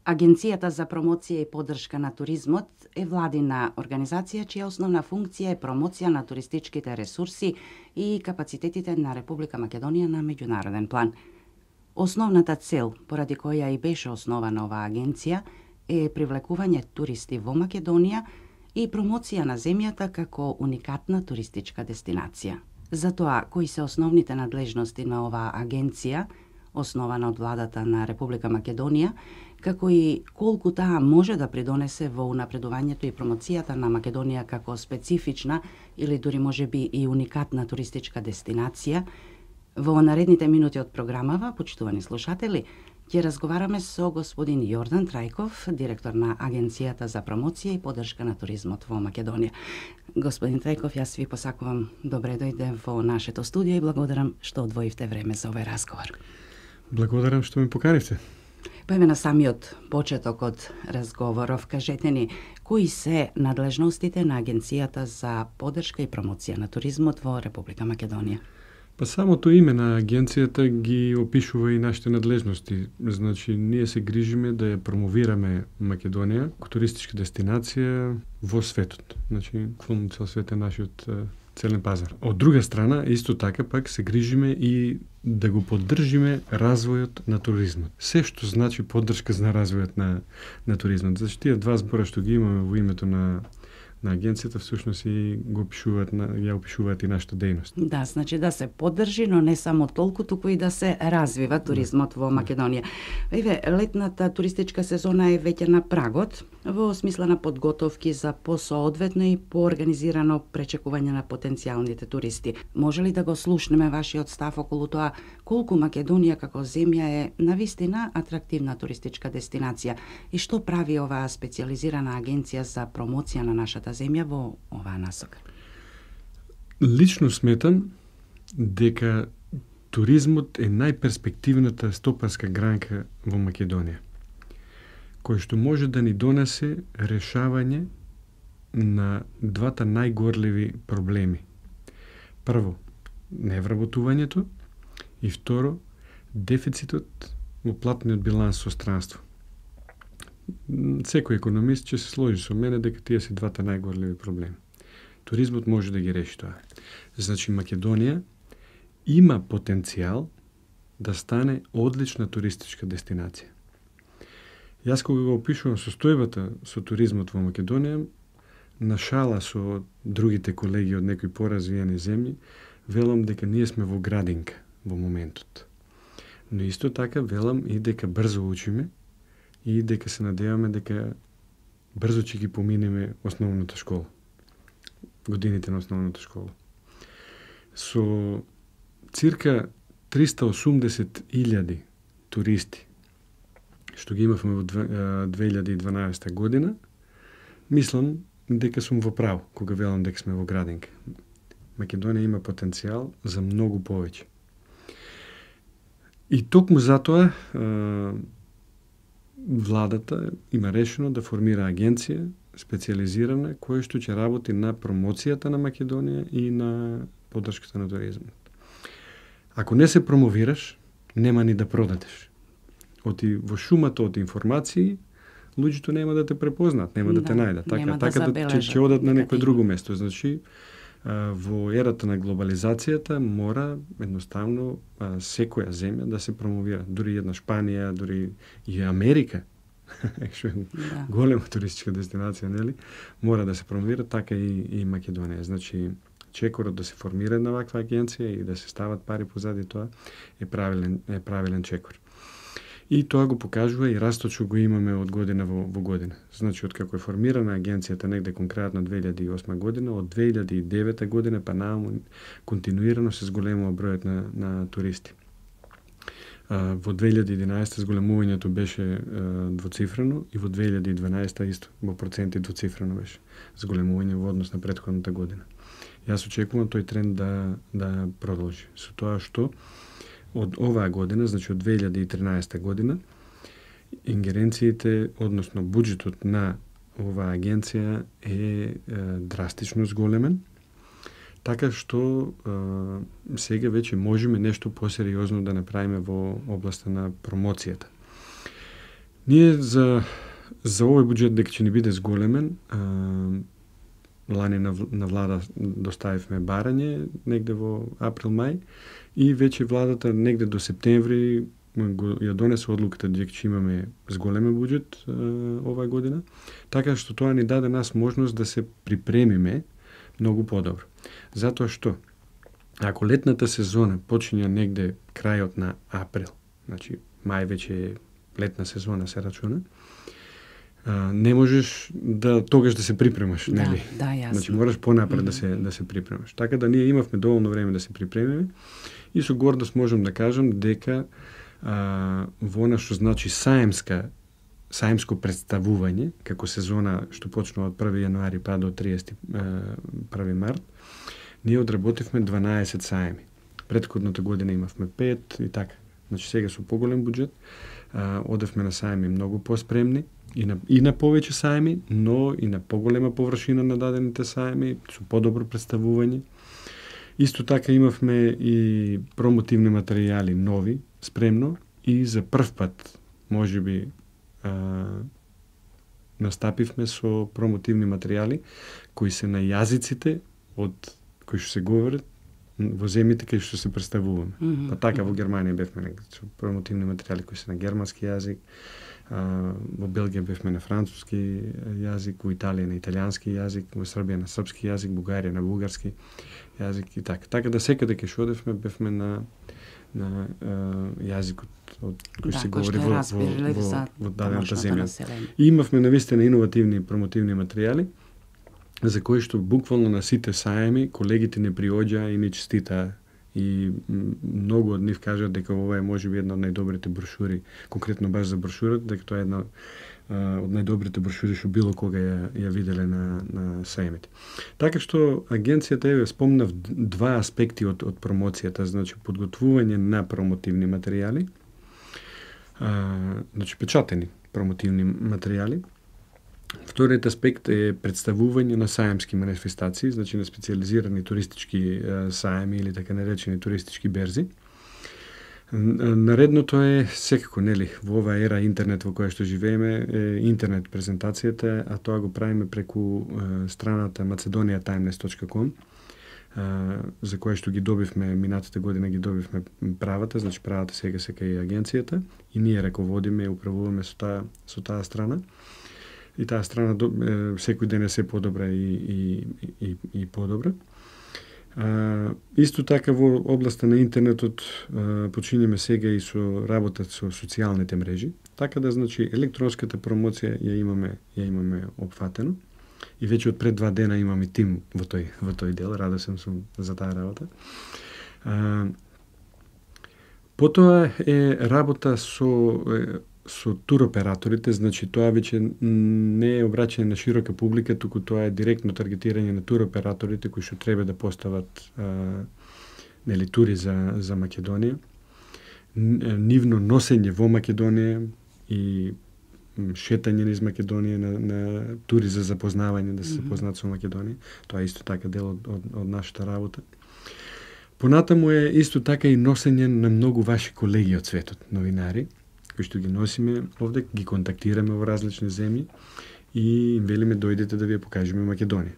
Агенцијата за промоција и поддршка на туризмот е владина организација чија основна функција е промоција на туристичките ресурси и капацитетите на Република Македонија на меѓународен план. Основната цел, поради која и беше основана оваа агенција, е привлекување туристи во Македонија и промоција на земјата како уникатна туристичка дестинација. Затоа, кои се основните надлежности на оваа агенција, основана од владата на Република Македонија, како и колку таа може да придонесе во унапредувањето и промоцијата на Македонија како специфична или дури можеби и уникатна туристичка дестинација, во наредните минути од програмава, почитувани слушатели, ќе разговараме со господин Јордан Трајков, директор на Агенцијата за промоција и поддршка на туризмот во Македонија. Господин Трајков, јас ви посакувам добре дојде во нашето студио и благодарам што одвоивте време за овој разговор. Благодарам што ме поканивте. Па еве на самиот почеток од разговоров, кажете ни, кои се надлежностите на Агенцијата за поддршка и промоција на туризмот во Република Македонија? Па самото име на агенцијата ги опишува и нашите надлежности. Значи, ние се грижиме да ја промовираме Македонија како туристичка дестинација во светот. Значи, во цел свет е нашиот целен пазар. Од друга страна, исто така пак се грижиме и да го поддржиме развојот на туризмот. Се што значи поддршка за развојот на туризмот. Зашто тие два збора што ги имаме во името на агенцијата всушност и го ја опишуваат и нашата дејност. Да, значи да се поддржи, но не само толку, туку и да се развива туризмот во Македонија. Еве, летната туристичка сезона е веќе на прагот, во смисла на подготовки за посоодветно и поорганизирано пречекување на потенцијалните туристи. Може ли да го слушнеме вашиот став околу тоа колку Македонија како земја е навистина атрактивна туристичка дестинација и што прави оваа специјализирана агенција за промоција на нашата земја во оваа насока? Лично сметам дека туризмот е најперспективната стопанска гранка во Македонија, кој што може да ни донесе решавање на двата најгорливи проблеми. Прво, невработувањето и второ, дефицитот во платниот биланс со странство. Секој економист ќе се сложи со мене дека тие се двата најгорливи проблеми. Туризмот може да ги реши тоа. Значи, Македонија има потенцијал да стане одлична туристичка дестинација. Јас кога го опишувам состојбата со туризмот во Македонија, на шала со другите колеги од некои поразвиени земји, велам дека ние сме во градинка во моментот. Но исто така велам и дека брзо учиме и дека се надеваме дека брзо ќе ги поминеме основната школа. Годините на основната школа. Со цирка 380.000 туристи што ги имавме во 2012 година, мислам дека сум во право кога велам дека сме во градинка. Македонија има потенцијал за многу повеќе. И токму затоа владата има решено да формира агенција специјализирана која што ќе работи на промоцијата на Македонија и на поддршката на туризмот. Ако не се промовираш, нема ни да продадеш. Оти во шумата од информации, луѓето нема да те препознаат, нема да те најдат. Така ќе одат на некое друго место. Значи, во ерата на глобализацијата мора едноставно секоја земја да се промовира. Дури една Шпанија, дури и Америка, што е голема туристичка дестинација, нели? Мора да се промовира, така и Македонија. Значи, чекорот да се формира една ваква агенција и да се стават пари позади тоа е правилен чекор. И тоа го покажува и растот што го имаме од година во година. Значи, од како е формирана агенцијата негде конкретно 2008 година, од 2009 година па нааму континуирано се зголемува бројот на туристи. Во 2011 зголемувањето беше двоцифрено и во 2012 исто во проценти двоцифрено беше зголемување во однос на претходната година. Јас очекувам тој тренд да продолжи. Со тоа што од оваа година, значи од 2013 година, ингеренциите, односно буџетот на оваа агенција е драстично зголемен, така што сега веќе можеме нешто посериозно да направиме во областа на промоцијата. Ние за овој буџет дека ќе ни биде зголемен, лани на влада доставивме барање негде во април-мај и веќе владата негде до септември ја донесе одлуката дека ќе имаме зголемен буџет оваа година, така што тоа ни даде нас можност да се припремиме многу подобро. Затоа што ако летната сезона почиња негде крајот на април, значи мај веќе е летна сезона се рачуна, не можеш тогаш да се припремаш, нели? Да, јасно. Значи мораш понапред да се припремаш. Така да ние имавме доволно време да се припремиме и со гордост можам да кажам дека во она што значи саемско представување, како сезона што почнува од 1 јануари па до 31 март, ние одработивме 12 саеми. Претходната година имавме 5 и така. Значи сега со поголем буџет одевме на саеми многу поспремни и на повеќе саеми, но и на поголема површина на дадените саеми, со подобро представување. Исто така имавме и промотивни материјали нови, спремно, и за прв пат, можеби, настапивме со промотивни материјали кои се на јазиците од кои што се говорат во земјите кај што се представуваме. Па така во Германија бевме со промотивни материјали кои се на германски јазик, во Белгија бевме на француски јазик, во Италија на италијански јазик, во Србија на српски јазик, Бугарија на бугарски јазик и така. Така да секаде кај што одевме бевме на јазикот од кој се говори во дадената земја. И имавме навистина иновативни промотивни материјали за кои што буквално на сите саеми колегите не приоѓаа и ни честитаа. И многу од нив кажат дека ова е можеби една од најдобрите брошури, конкретно баш за брошурата, дека тоа е една од најдобрите брошури што било кога ја виделе на саемите. Така што агенцијата еве спомнав два аспекти од промоцијата, значи подготвување на промотивни материјали, значи печатени промотивни материјали. Вториот аспект е представување на саемски манифестации, значи на специализирани туристички саеми или така наречени туристички берзи. Наредното е секако, нели, во оваа ера интернет во која што живееме, е интернет презентацијата, а тоа го правиме преку страната macedoniatimeless.com, за која што ги добивме минатата година, ги добивме правата, значи правата сега се кај агенцијата и ние раководиме и управуваме со таа страна. И таа страна секој ден е се подобра и подобра. Исто така во областа на интернетот почињаме сега и со работа со социјалните мрежи, така да значи електронската промоција ја имаме опфатено и веќе од пред 2 дена имаме тим во тој дел, радосен сум за таа работа. Потоа е работа со туроператорите, значи тоа веќе не е обраќање на широка публика, туку тоа е директно таргетирање на туроператорите кои што треба да постават нели тури за Македонија. Нивно носење во Македонија и шетање низ Македонија на тури за запознавање, да се запознаат со Македонија. Тоа е исто така дел од нашата работа. Понатаму е исто така и носење на многу ваши колеги од светот, новинари, кои што ги носиме овде, ги контактираме во различни земји и им велиме дојдете да ви ја покажеме Македонија.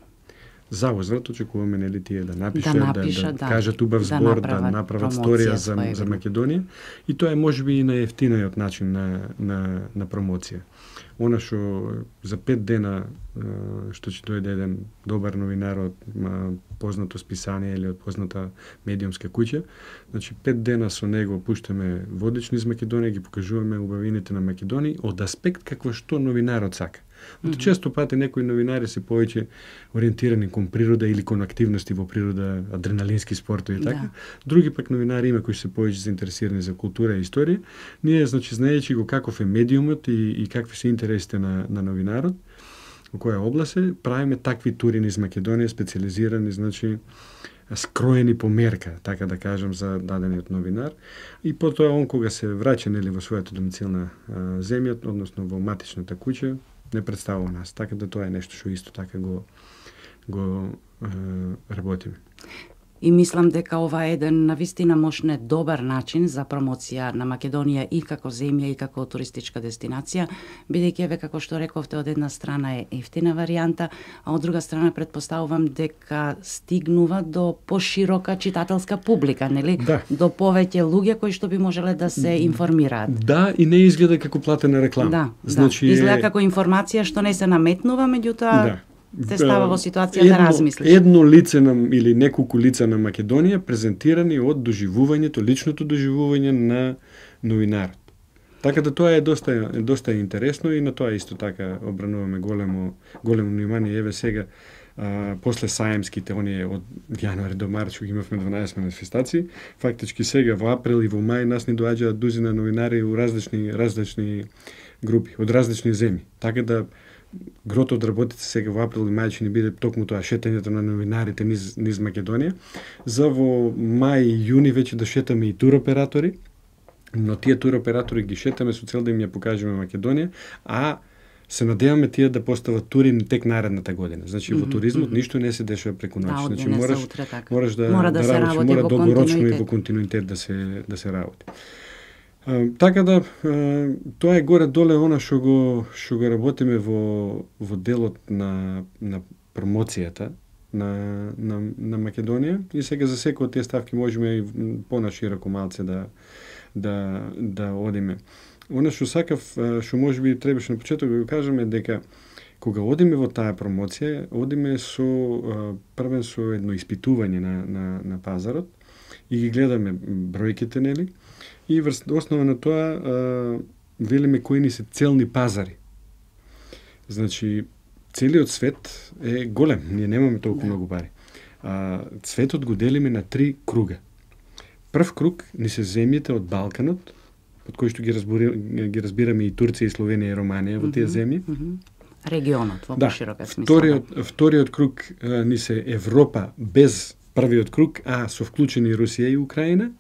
За возврат очекуваме нели тие да напишат, да кажат убав збор, да направат сторија за Македонија и тоа е можеби и најефтиниот начин на промоција. Она што за 5 дена што ќе дојде еден добар новинар од познато списание или од позната медиумска куќа, значи 5 дена со него пуштаме водич низ Македонија, ги покажуваме убавините на Македонија од аспект какво што новинарот сака. Често пати некои новинари се повеќе ориентирани кон природа или кон активности во природа, адреналински спортови и така. Да. Други пак новинари има кои се повеќе заинтересирани за култура и историја. Ние, значи, знаејќи го каков е медиумот и какви се интересите на новинарот, во која област е, правиме такви тури низ Македонија, специализирани, значи, скроени по мерка, така да кажам, за дадениот новинар. И потоа он кога се враќа нели во својата домицилна земја, односно во матичната куќа, не представува нас. Така да тоа е нешто што исто така го работиме. И мислам дека ова е еден навистина можне добар начин за промоција на Македонија и како земја и како туристичка дестинација, бидејќи еве како што рековте, од една страна е ефтина варијанта, а од друга страна претпоставувам дека стигнува до поширока читателска публика, нели? Да. До повеќе луѓе кои што би можеле да се информираат. Да, и не изгледа како платена реклама. Да, значи, изгледа како информација што не се наметнува, меѓутоа те става во ситуација да размислиш. Едно лице или неколку лица на Македонија презентирани од доживувањето, личното доживување на новинарот. Така да тоа е доста интересно и на тоа исто така обрануваме големо внимание. Еве сега после саемските, оние од јануари до март, што имавме 12 манифестации, фактички сега во април и во мај нас ни доаѓаат дузина новинари у различни групи, од различни земји. Така да грото од работите сега во април и мај ќе ни биде токму тоа шетањето на новинарите низ Македонија. За во мај и јуни веќе да шетаме и туроператори, но тие туроператори ги шетаме со цел да им ја покажеме Македонија, а се надеваме тие да постават тури тек наредната година. Значи во туризмот ништо не се дешава преку ноќ. Значи мораш да работиш, мора долгорочно и во континуитет да се работи. Така да тоа е горе-доле она што го работиме во делот на промоцијата на Македонија, и сега за секој од тие ставки можеме и понашироко малце да одиме. Она што сакав, што можеби требаше на почеток да го кажеме, дека кога одиме во таа промоција, одиме првен со едно испитување на пазарот и ги гледаме бројките, нели? И врз основа на тоа велиме кои ни се целни пазари. Значи, целиот свет е голем, ние немаме толку многу пари. Светот го делиме на 3 круга. Прв круг ни се земјите од Балканот, од кои што ги разбираме и Турција, и Словенија, и Романија во тие земји. Регионот во поширока смисла. Вториот круг ни се Европа без првиот круг, а со вклучени Русија и Украина.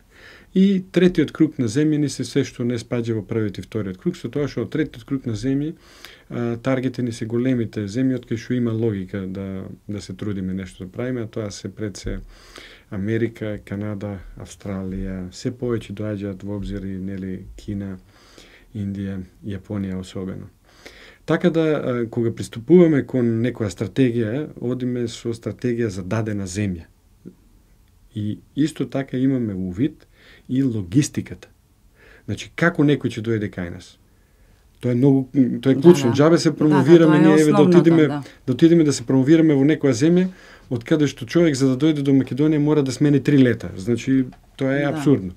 И третиот круг на земји ни се што не спаѓа во првиот и вториот круг, со тоа што од третиот круг на земји таргете ни се големите земји од кои што има логика да се трудиме нешто да правиме, а тоа се пред се Америка, Канада, Австралија, се повеќе доаѓаат во обзир и нели Кина, Индија, Јапонија особено. Така да кога приступуваме кон некоја стратегија, одиме со стратегија за дадена земја. И исто така имаме увид и логистиката. Значи, како некој ќе дојде кај нас? Тоа е клучно. Џабе се промовираме, ние еве да отидеме да се промовираме во некоја земја, од каде што човек за да дојде до Македонија мора да смени 3 лета. Значи, тоа е апсурдно.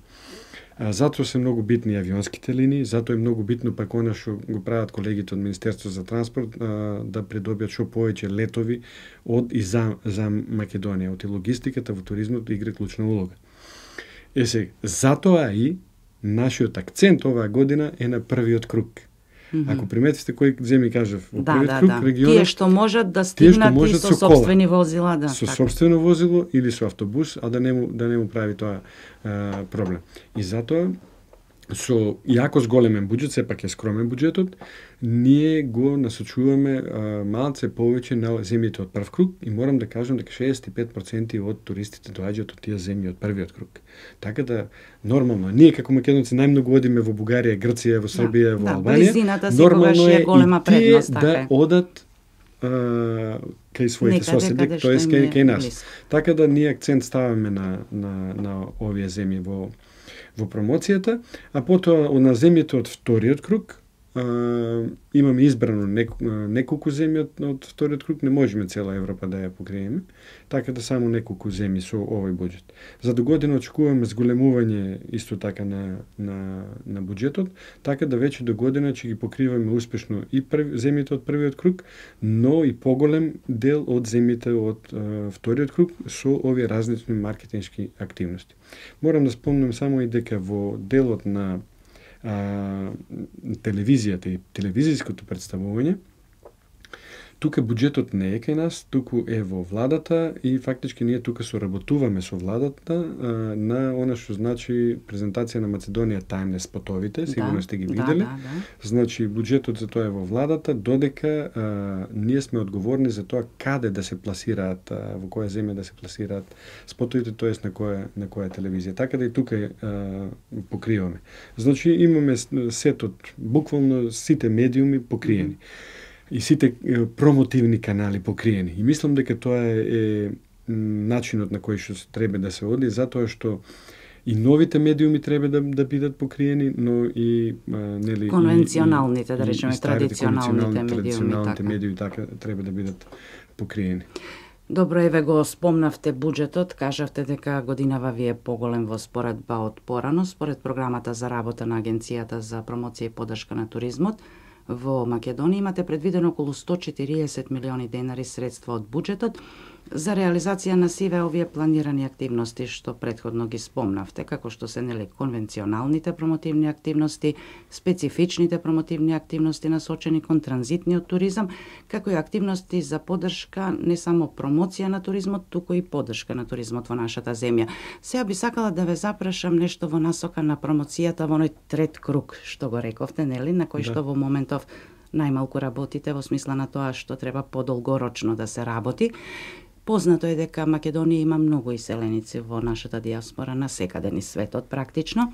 Затоа се многу битни авионските линии, затоа е многу битно пак она што го прават колегите од Министерството за транспорт, да придобијат што повеќе летови од и за Македонија. Од и логистиката во туризмот игра клучна улога. Сега, затоа и нашиот акцент оваа година е на првиот круг. Ако приметите кои земји кажав, во првиот круг регионот, тие што можат да стигнат и со сопствени возила, со сопствено возило или со автобус, а да не му прави тоа проблем. И затоа со јако зголемен буџет, сепак е скромен буџетот, ние го насочуваме малце повеќе на земјите од прв круг и морам да кажам дека 65% од туристите доаѓаат од тие земји од првиот круг. Така да нормално, ние како македонци најмногу одиме во Бугарија, Грција, во Србија, во Албанија. Нормално е и тие да одат кај своите соседи, тоест кај нас. Така да ние акцент ставаме на овие земји во промоцијата, а потоа на земјите од вториот круг имаме избрано неколку земји од вториот круг, не можеме цела Европа да ја покриеме, така да само неколку земји со овој буџет. За до година очекуваме зголемување исто така на буџетот, така да веќе до година ќе ги покриваме успешно и земјите од првиот круг, но и поголем дел од земјите од вториот круг со овие различни маркетиншки активности. Морам да спомнам само и дека во делот на телевизијата и телевизиското представување, тука буџетот не е кај нас, туку е во владата и фактички ние тука соработуваме со владата на она што значи презентација на Македонија тајмлес спотовите, сигурно сте ги виделе. Значи буџетот за тоа е во владата, додека ние сме одговорни за тоа каде да се пласираат, во која земја да се пласираат спотовите, тоест на која телевизија. Така да и тука покриваме. Значи имаме сетот, буквално сите медиуми покриени. И сите промотивни канали покриени. И мислам дека тоа е начинот на кој што треба да се оди, затоа што и новите медиуми треба да бидат покриени, но и нели конвенционалните, да речеме, традиционалните медиуми така треба да бидат покриени. Добро, еве го спомнавте буџетот, кажавте дека годинава ви е поголем во споредба од порано, според програмата за работа на Агенцијата за промоција и поддршка на туризмот. Во Македонија имате предвидено околу 140 милиони денари средства од буџетот за реализација на сиве овие планирани активности што претходно ги спомнавте, како што се нели конвенционалните промотивни активности, специфичните промотивни активности насочени кон транзитниот туризам, како и активности за поддршка не само промоција на туризмот, туку и поддршка на туризмот во нашата земја. Сега би сакала да ве запрашам нешто во насока на промоцијата во оној трет круг што го рековте, нели, на кој што во моментов најмалку работите во смисла на тоа што треба подолгорочно да се работи. Познато е дека Македонија има многу иселеници во нашата диаспора на секаде низ светот практично.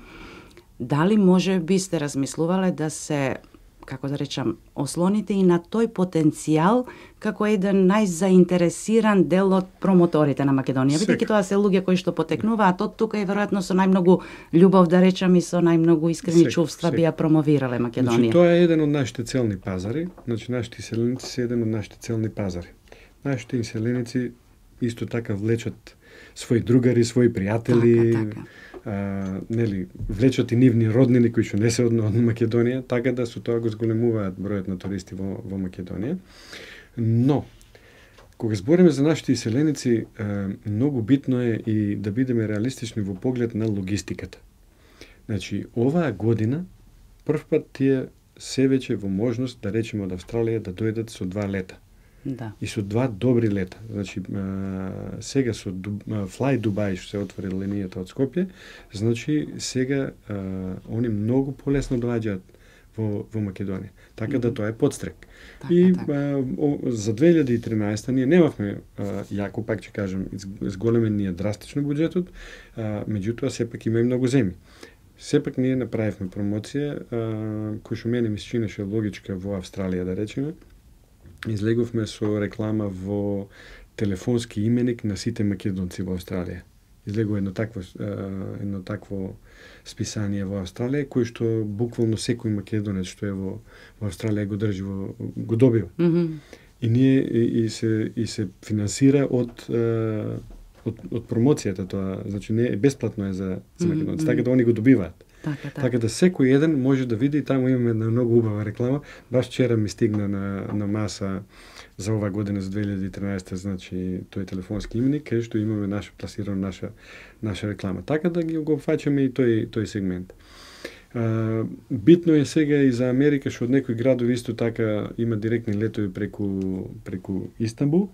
Дали може би сте размислувале да се, како да речам, ослоните и на тој потенцијал како еден најзаинтересиран дел од промоторите на Македонија, бидејќи тоа се луѓе кои што потекнуваат од тука и веројатно со најмногу љубов, да речам, и со најмногу искрени чувства би ја промовирале Македонија. Значи тоа е еден од нашите целни пазари, значи нашите иселеници се еден од нашите целни пазари. Нашите иселеници исто така влечат своји другари, своји пријатели, нели, влечат и нивни роднини кои што не се од Македонија, така да со тоа го зголемуваат бројот на туристи во Македонија. Но кога збориме за нашите иселеници, многу битно е и да бидеме реалистични во поглед на логистиката. Значи, оваа година првпат тие се веќе во можност, да речеме, од Австралија да дојдат со 2 лета. Да. И со 2 добри лета. Значи, сега со Fly Dubai што се отвори линијата од Скопје, значи сега они многу полесно доаѓаат во Македонија. Така да тоа е подстрек. И за 2013 ние немавме јако, пак ќе кажам, зголемен ние драстично буџетот, меѓутоа сепак има и многу земји. Сепак ние направивме промоција која што мене ми се чинеше логичка во Австралија, да речеме. Излеговме со реклама во телефонски именик на сите македонци во Австралија. Излегува едно такво списание во Австралија, кој што буквално секој македонец што е во Австралија го држи го добива. И ние и се финансира од промоцијата тоа, значи не е бесплатно е за македонци, така да они го добиваат. Така да секој еден може да види, таму имаме една многу убава реклама. Баш вчера ми стигна на маса за оваа година, за 2013, значи тој телефонски именик, кај што имаме пласирано наша реклама. Така да го фаќаме и тој сегмент. Битно е сега и за Америка, што од некои градови исто така има директни летови преку Истанбул.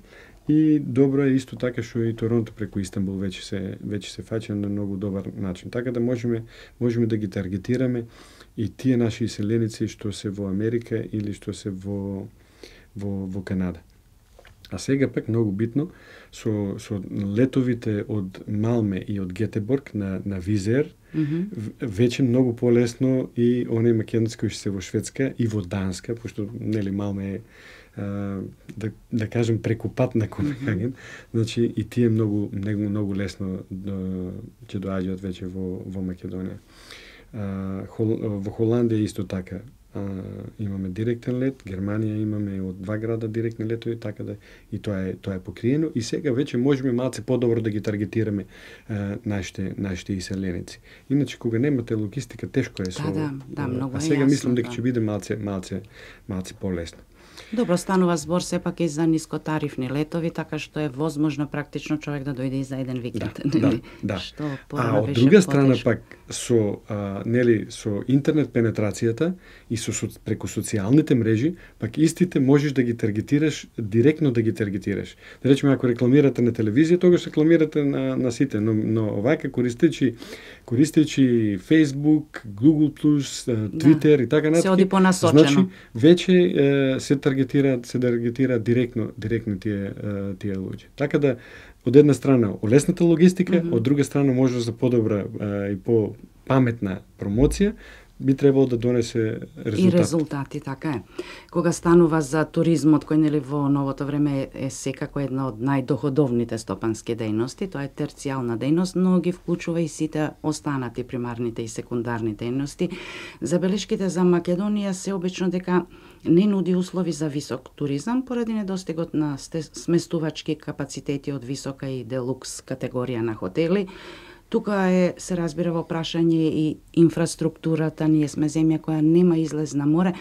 И добро е исто така што и Торонто преку Истанбул веќе се фаќа на многу добар начин. Така да можеме да ги таргетираме и тие наши иселеници што се во Америка или што се во Канада. А сега пак многу битно со летовите од Малме и од Гетеборг на Визер, веќе многу полесно и оние македонци кои се во Шведска и во Данска, пошто нели Малме е да кажем преку пат на Копенхаген, значи и тие многу лесно ќе доаѓаат веќе во Македонија. Во Холандија исто така имаме директен лет, Германија имаме од 2 града директни летови, така да и тоа е покриено и сега веќе можеме малце подобро да ги таргетираме нашите иселеници. Иначе кога немате логистика тешко е со. Да, многу е. А сега мислам дека ќе биде малце полесно. Добро, станува збор сепак и за нискотарифни летови, така што е возможно практично човек да дојде и за еден викенд. Да. Што А од друга страна пак со со интернет пенетрацијата и преку социјалните мрежи, пак истите можеш да ги таргетираш, директно да ги таргетираш. Да речеме, ако рекламирате на телевизија, тогаш рекламирате на сите, но овака користејќи Facebook, Google+, Twitter и така натаму. Се оди понасочено. Значи, веќе се таргетира директно тие луѓе. Така да, од една страна олесната логистика, од друга страна може за подобра и по-паметна промоција, би требало да донесе резултати. И резултати, така е. Кога станува за туризмот, кој нели во новото време е секако една од најдоходовните стопански дејности, тоа е терцијална дејност, но ги вклучува и сите останати примарните и секундарни дејности. Забелешките за Македонија се обично дека не нуди услови за висок туризам поради недостигот на сместувачки капацитети од висока и делукс категорија на хотели. Тука се разбира во прашање и инфраструктурата. Ние сме земја која нема излез на море,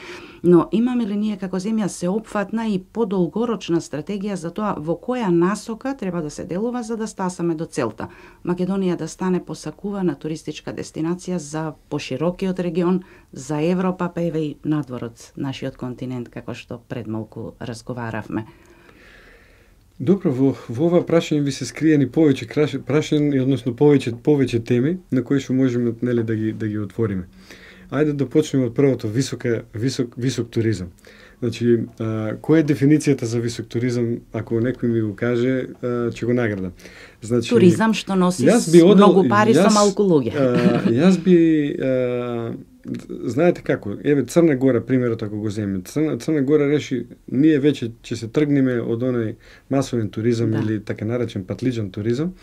но имаме ли ние како земја сеопфатна и подолгорочна стратегија за тоа во која насока треба да се делува за да стасаме до целта? Македонија да стане посакувана туристичка дестинација за поширокиот регион, за Европа, па еве и надворот нашиот континент, како што пред малку разговаравме. Добро, во ова прашање ви се скриени повеќе прашања, односно повеќе теми на кои што можеме да ги отвориме. Ајде да почнеме од првото, висок туризам. Значи, која е дефиницијата за висок туризам, ако некој ми го каже, ќе го наградам. Значи, туризам што носи многу пари со малку луѓе. Јас би знаете како, еве Црна Гора примерот ако го земеме. Црна Гора реши ние веќе ќе се тргнеме од оној масовен туризам или така наречен патлиџан туризам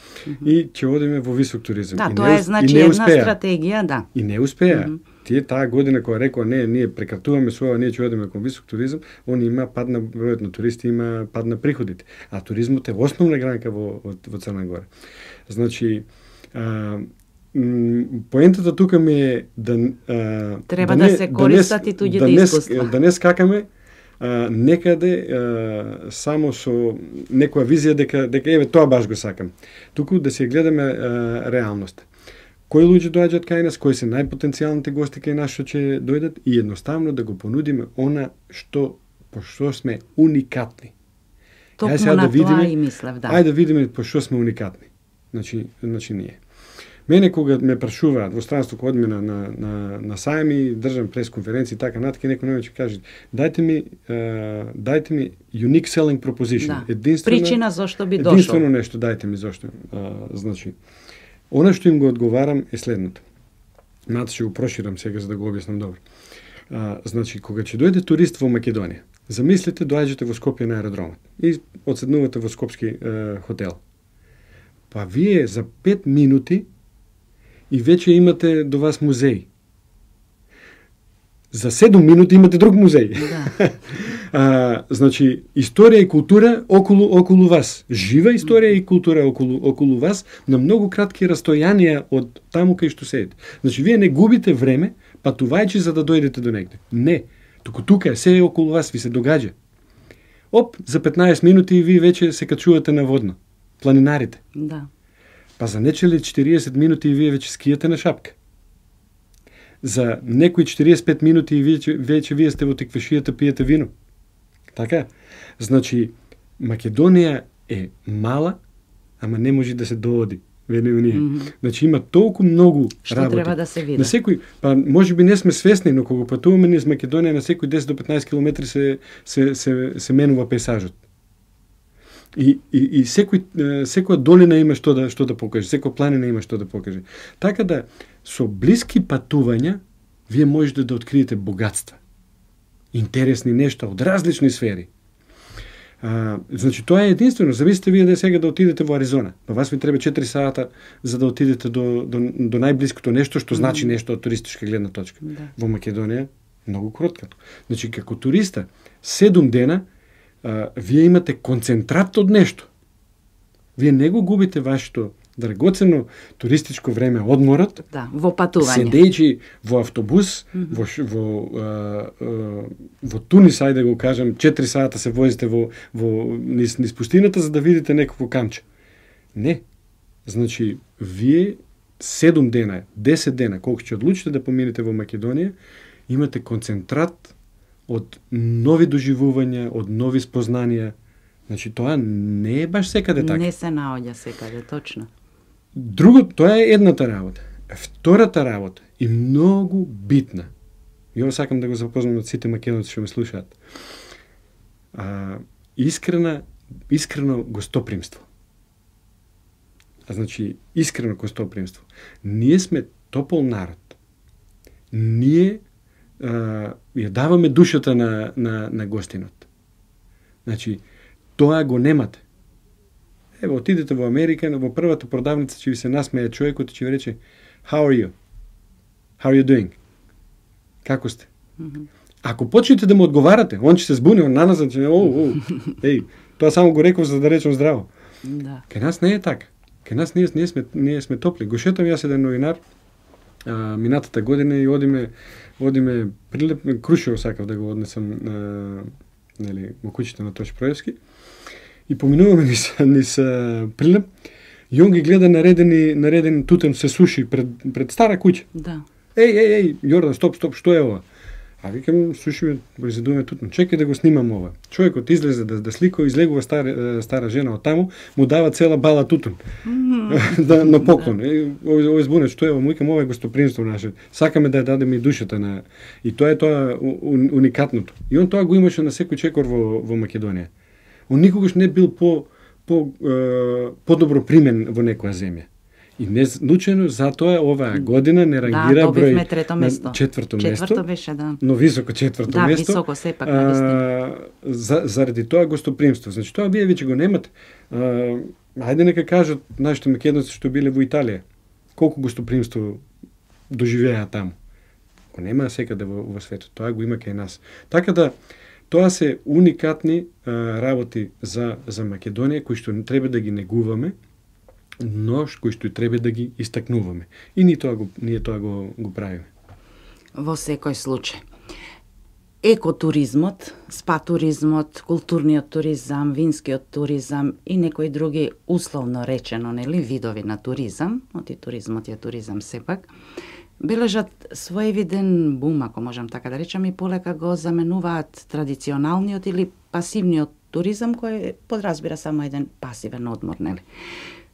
и ќе одиме во висок туризам. Да, тоа е значи една стратегија, да. И не успеа. Тие таа година кога рекоа не, ние прекратуваме со ова, ние ќе одиме кон висок туризам, они има пад на бројот на туристи, има пад на приходите. А туризмот е основна гранка во Црна Гора. Значи, поентата тука ми е треба да се користат и туѓите искуства. Да не скакаме некаде само со некоја визија дека еве тоа баш го сакам. Туку да се гледаме реалноста. Кои луѓе доаѓаат кај нас, кои се најпотенцијалните гости кај нас што ќе дојдат и едноставно да го понудиме она по што сме уникатни. Токму на тоа и мислев, да. Ајде да видиме по што сме уникатни. Значи ние. Мене кога ме прашуваат во странство кога одиме на сајми, држам пресконференции така натаму, некој ќе каже дайте ми unique selling proposition. Да. Причина зошто би дошол. Единствено нешто дайте ми зошто. Значи она што им го одговарам е следното. Мато ќе го проширам сега за да го објаснам добро. Значи кога ќе дојде турист во Македонија, замислете доаѓате во Скопје на аеродромот и одседнувате во скопски хотел. Па вие за 5 минути и веќе имате до вас музеј. За 7 минути имате друг музеј. Да. Значи, историја и култура околу вас. Жива историја и култура околу вас на многу кратки растојанија од таму кај што седите. Значи, вие не губите време патувајќи за да дојдете до негде. Не. Тука е, се е околу вас, ви се догаѓа. За 15 минути и ви веќе се качувате на водно. Планинарите. Да. Па за нечели 40 минути и вие веќе скијате на шапка. За некои 45 минути и веќе вие сте во теквешијата пиете вино. Така? Значи, Македонија е мала, ама не може да се дооди. Значи има толку многу што работи. Треба да се види. На секој, па можеби не сме свесни, но кога патуваме низ Македонија на секој 10 до 15 километри се менува пейзажот. И секоја долина има што да покаже, секоја планина има што да покаже. Така да со блиски патувања вие можете да откриете богатства. Интересни нешта од различни сфери. Значи тоа е единствено. Замислите вие сега да отидете во Аризона. Па вас ви треба 4 сата за да отидете до најблиското нешто што значи нешто од туристичка гледна точка. Да. Во Македонија многу кратко. Значи како туриста 7 дена вие имате концентрат од нешто. Вие не го губите вашето драгоцено туристичко време одморот, Да, во патување. седејќи во автобус, во Тунис, ајде го кажам, 4 сата се возите низ пустината за да видите некакво камче. Не. Значи, вие 7 дена, 10 дена, колку ќе одлучите да поминете во Македонија, имате концентрат од нови доживувања, од нови спознанија. Значи, тоа не е баш секаде така. Не се наоѓа секаде, точно. Друго, тоа е едната работа. Втората работа и многу битна. И ова сакам да го запознам од сите македонци што ме слушаат. Искрено гостопримство. Значи, искрено гостопримство. Ние сме топол народ. Ние ја даваме душата на гостинот. Значи, тоа го немате. Ево, отидете во Америка, во првата продавница ќе ви се насмее човекот и ќе ви рече How are you? How are you doing? Како сте? Ако почнете да му одговарате, он ќе се збуни, он наназад ќе еј, тоа само го реков за да речем здраво. Да. Кај нас не е така. Кај нас ние сме топли. Го шетам јас еден новинар минатата година и одиме Прилеп, Крушево сакав да го однесам нели во куќите на Тош Проевски. И поминуваме низ Прилеп и он ги гледа наредени тутем се суши пред стара куќа. Да. Еј, Јордан, стоп, што е ова? А викам, слушаме, произведуваме тутун. Чекај да го снимам ова. Човекот излезе да слика, излегува стара жена од таму, му дава цела бала тутун. На поклон. Овој збунет, што е ова? Му викам, ова е гостопримство наше. Сакаме да ја дадеме и душата на... И тоа е тоа уникатното. И он тоа го имаше на секој чекор во Македонија. Он никогаш не бил подобро примен во некоја земја. И не случајно затоа оваа година не рангира број на четврто место. Четврто беше, да. Но високо четврто место. Да, високо сепак, навистина. Заради тоа гостопримство. Значи тоа вие веќе го немате. Ајде нека кажат нашите македонци што биле во Италија. Колку гостопримство доживеа таму. Го нема секаде во светот. Тоа го има кај нас. Така да тоа се уникатни работи за Македонија кои што треба да ги негуваме, но кои што треба да ги истакнуваме. И ние тоа го правиме. Во секој случај. Екотуризмот, спа туризмот, културниот туризам, винскиот туризам и некои други условно речено, нели, видови на туризам, оти туризмот е туризам сепак, бележат своевиден бум, ако можам така да речам, и полека го заменуваат традиционалниот или пасивниот туризам, кој подразбира само еден пасивен одмор, нели?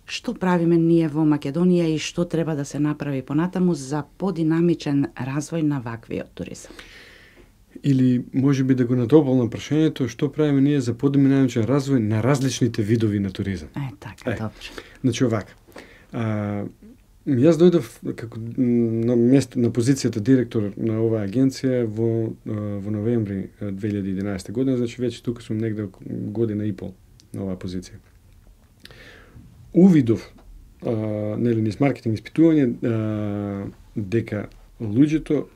Што правиме ние во Македонија и што треба да се направи понатаму за подинамичен развој на ваквиот туризам? Или може би да го натополнам прашањето, што правиме ние за подинамичен развој на различните видови на туризам? Така, добро. Значи овака. Јас дојдов како на позицијата директор на оваа агенција во новември 2011 година, значи веќе тука сум негде година и пол на оваа позиција. Увидов, нели, низ маркетинг испитување, дека луѓето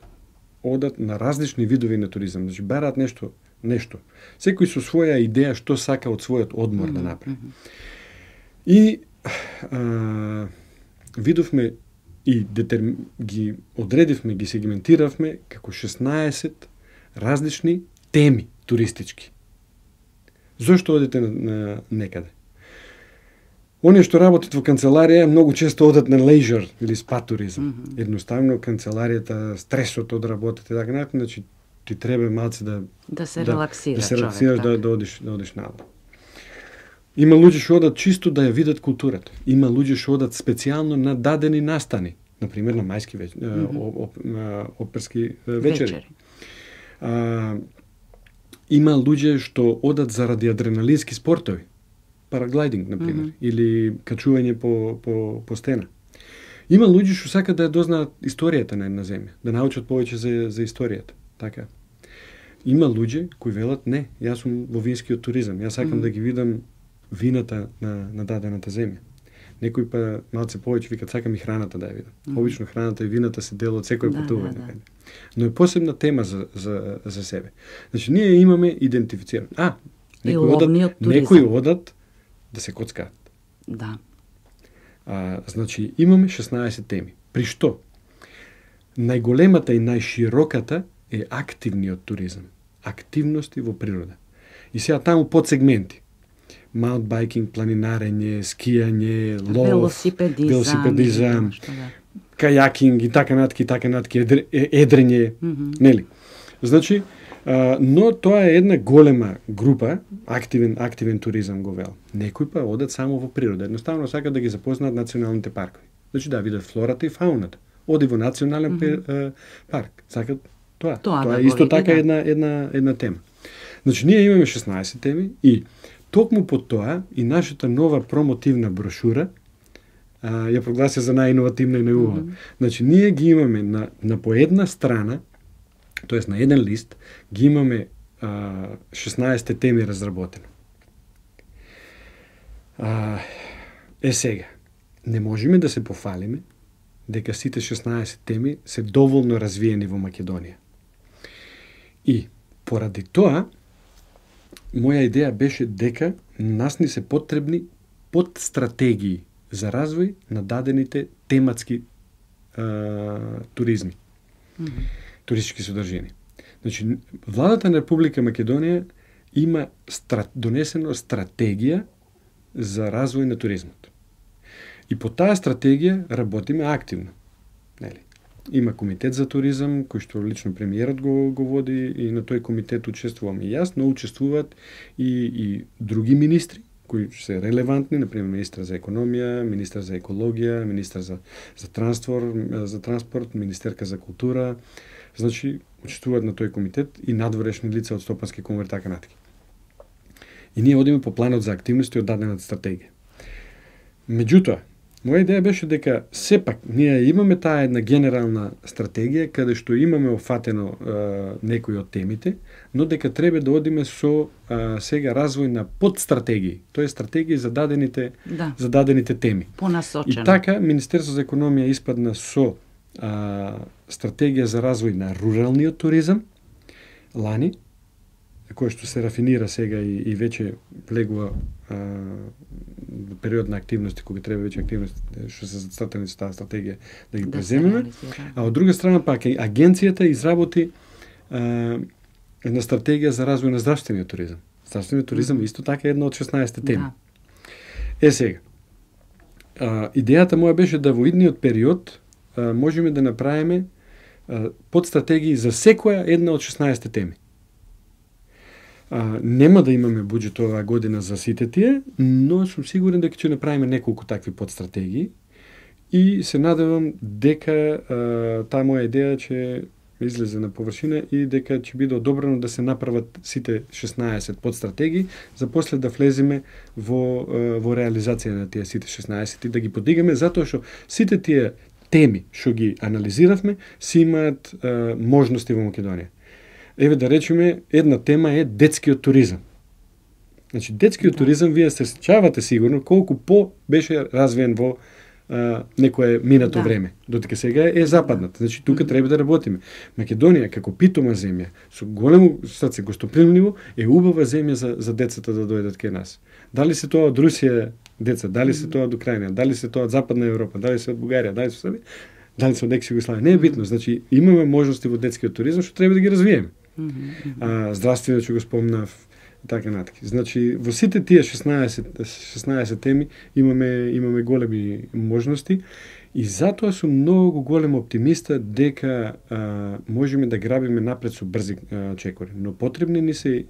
одат на различни видови на туризам. Значи, бараат нешто. Секој со своја идеја што сака од својот одмор да направи. И видовме и ги одредивме, ги сегментиравме како 16 различни теми туристички. Зошто одите на некаде? Оние што работат во канцеларија многу често одат на лејжер или спа туризам. Едноставно канцеларијата, стресот од работата и така натаму, значи ти треба малце да се релаксира, да се релаксираш, да одиш надолу. Има луѓе што одат чисто да ја видат културата. Има луѓе што одат специјално на дадени настани, например на мајски оперски вечери. Има луѓе што одат заради адреналински спортови. Параглайдинг, например, или качување по стена. Има луѓе што сакаат да ја дознаат историјата на една земја, да научат повеќе за историјата. Така. Има луѓе кои велат не, јас сум во винскиот туризам, јас сакам да ги видам вината на дадената земја. Некои па малце повеќе викат сакам и храната да ја видам. Обично храната и вината се дел од секој патување. Но е посебна тема за себе. Значи ние имаме идентифицирано. Некои одат да се коцкаат. Да. Значи, имаме 16 теми. При што? Најголемата и најшироката е активниот туризам. Активности во природа. И сега таму подсегменти. Маунтбайкинг, планинарење, скијање, лов, велосипедизам, кајакинг и така натки, едрење, нели? Значи, но тоа е една голема група, активен туризам го вел. Некои па одат само во природа, едноставно сакат да ги запознаат националните паркови. Значи да видат флората и фауната. Оди во национален парк, сакат тоа. Тоа е исто така една тема. Значи ние имаме 16 теми и токму по тоа и нашата нова промотивна брошура ја прогласи за најиновативна и најубава. Значи ние ги имаме на по една страна, тоест на еден лист, ги имаме 16 теми разработено. Сега, не можеме да се пофалиме дека сите 16 теми се доволно развиени во Македонија. И поради тоа, моја идеја беше дека нас ни се потребни подстратегии за развој на дадените тематски туризми, туристички содржини. Значи, владата на Република Македонија има донесено стратегија за развој на туризмот. И по таа стратегија работиме активно. Нели? Има комитет за туризам, кој што лично премиерот го води и на тој комитет учествувам и јас, но учествуваат и други министри кои се релевантни, например министар за економија, министар за екологија, министар за транспорт, министерка за култура. Значи, учествуваат на тој комитет и надворешни лица од Стопански комори, така натаму. И ние одиме по планот за активности од дадената стратегија. Меѓутоа, моја идеја беше дека сепак ние имаме таа една генерална стратегија каде што имаме офатено некои од темите, но дека треба да одиме со сега развој на подстратегии, тоа е стратегии за дадените теми. Понасочено. И така Министерството за економија испадна со стратегија за развој на руралниот туризам лани, кој што се рафинира сега и веќе влегува период на активности, кога треба веќе активности што се зацртани со таа стратегија да ги преземеме. А од друга страна пак агенцијата изработи една стратегија за развој на здравствениот туризам. Здравствениот туризам исто така е една од 16 теми. Сега, идејата моја беше да во идниот период можеме да направиме подстратегии за секоја една од 16 теми. Нема да имаме буџет оваа година за сите тие, но сум сигурен дека ќе направиме неколку такви подстратегии и се надевам дека таа моја идеја ќе излезе на површина и дека ќе биде одобрено да се направат сите 16 подстратегии за после да влеземе во реализација на тие сите 16 и да ги подигаме, затоа што сите тие теми што ги анализиравме си имаат можности во Македонија. Еве да речеме, една тема е детскиот туризам. Значи, детскиот туризам, вие се сеќавате сигурно колку по беше развиен во некое минато време, додека сега е западнат. Значи, тука треба да работиме. Македонија, како питома земја, со големо срце гостопримливо, е убава земја за децата да дојдат кај нас. Дали се тоа од Русија деца, дали се тоа од Украина, дали се тоа од Западна Европа, дали се од Бугарија, дали се од Србија, дали се од екс-Југославија. Не е битно. Значи, имаме можности во детскиот туризам што треба да ги развиеме. Здравствено ќе го спомнав и така натаму. Значи, во сите тие 16 теми имаме големи можности и затоа сум многу голем оптимиста дека можеме да грабиме напред со брзи чекори. Но потребни ни се